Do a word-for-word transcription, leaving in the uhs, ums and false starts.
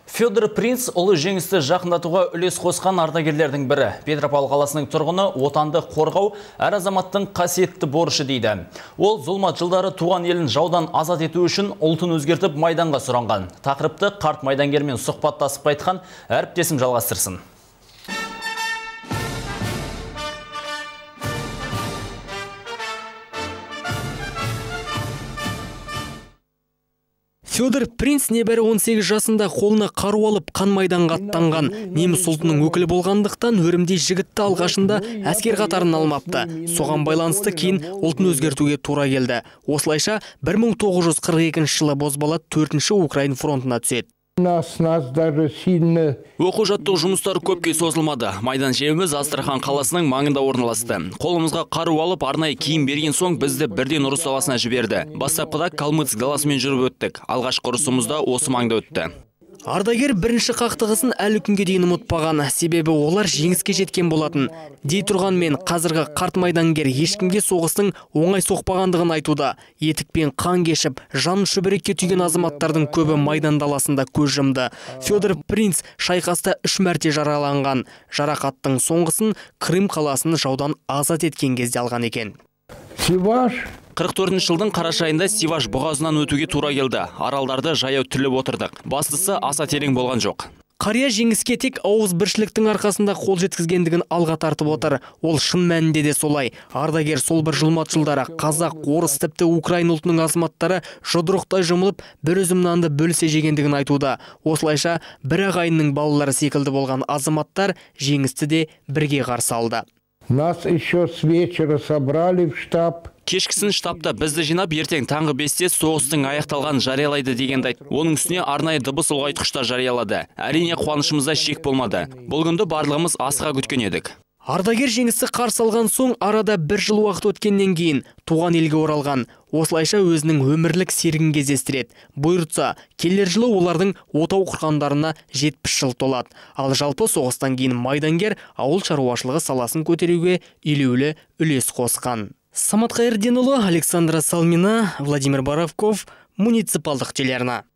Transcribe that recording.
Федор Принц ұлы жеңісті жақындатуға үлес қосқан ардагерлердің бірі. Петропавл қаласының тұрғыны отанды қорғау әр азаматтың қасиетті борышы дейді. Ол зұлмат жылдары туған елін жаудан азат ету үшін ұлтын өзгертіп майданға сұранған. Тақырыпты қарт майдангермен сұхбаттасып қайтқан әріптесім жалғастырсын. Федор Принц небәрі он сегіз жасында қолына қару алып қан майданға аттанған. Неміс ұлтының өкілі болғандықтан өрімдей жігітті алғашында әскер қатарын алмапты. Соған байланысты кейін ұлтын өзгертуге тура келді. Осылайша бір мың тоғыз жүз қырық екінші жылы бозбала төртінші Украин фронтына түседі. Оқу жаттығу жұмыстары көпке созылмады. Майдан жеріміз Астрахан қаласының маңында орналасты. Қолымызға қару алып, арнайы киім берген соң бізді бірден ұрыс даласына жіберді. Бастапқыда Калмыцк даласымен жүріп өттік. Алғашқы ұрысымызда осы маңда өтті. Ардагер бірінші қақтығысын әлі күнге дейін ұмытпаған, себебі олар жеңіске жеткен болатын. Дей тұрғанмен қазіргі қарт майдангер ешкімге соғыстың оңай соқпағандығын айтуда. Етікпен қан кешіп, жан шүбірекке түйген азаматтардың көбі майдан даласында көз жұмды. Федор Принц шайқаста үш мәрте жараланған. Жарақаттың соңғысын Крым қаласын жаудан азат еткен кезде алған екен. қырық төртінші жылдың қараша айында Сиваш бұғазынан өтуге тура келді. Аралдарды жаяу түліп отырдық. Бастысы аса терең болған жоқ. Қария жеңіске тек ауыз біршіліктің арқасында қол жеткізгендігін алға тартып отыр. Ол шын мәнінде де солай. Ардагер сол бір жылмат жылдары қазақ, орыс тіпті Украин ұлтының азаматтары жұдырықтай жұмылып, бір үзім нанды бөлісе жегендігін айтуда. Осылайша бір ағайынның балалары секілді болған азаматтар жеңісті де бірге қарсы алды. Нас еще с вечера собрали в штаб. Кешкісін штабта бізді жинап, ертең таңғы бесте соғыстың аяқталған жариялайды дегенді айтты. Оның үстіне арнайы дыбыс ұлғайтқышта жариялады. Әрине қуанышымызда шек болмады. Бұл күнді барлығымыз асыға күткен едік. Ардагер жеңісті қарсы алған соң арада бір жыл уақыт өткеннен кейін туған елге оралған. Осылайша өзінің өмірлік серігін кездестіреді. Бұйыртса, келер жылы олардың отау құрғандарына жетпіс жыл толады. Ал жалпы соғыстан кейін майдангер ауыл шаруашылығы саласын көтеруге елеулі үлес қосқан. Самат Қайырденұлы, Александра Салмина, Владимир Боровков, муниципалдық телеарна.